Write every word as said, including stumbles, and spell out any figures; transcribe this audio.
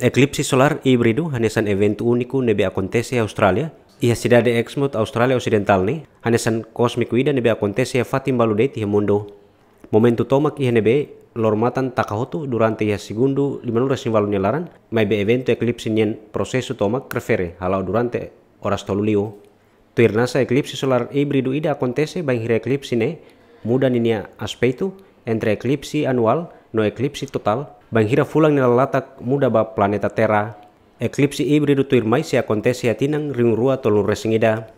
Eklipse solar híbridu hanesan eventu úniku ne'ebé akontese iha Austrália, iha sidade Exmouth, Austrália Osidentál ne'e, hanesan kósmiku ida ne'ebé akontese iha fatin balu de'it iha mundu. Momentu tomak iha ne'ebé loro-matan taka hotu durante iha segundu limanulu-resin-ualu nia laran, maibé eventu eklipse nian prosesu tomak refere hala'o durante oras tolu liu. Tuir NASA, eklipse solar híbridu ida akontese bainhira eklipse ne'e muda ninia aspetu entre eklipse anuál no eklipse totál, bainhira fulan nia lalatak muda ba planeta Terra. Eklipse híbridu tuirmai sei akontese iha tinan rihun rua tolunulu-resin-ida.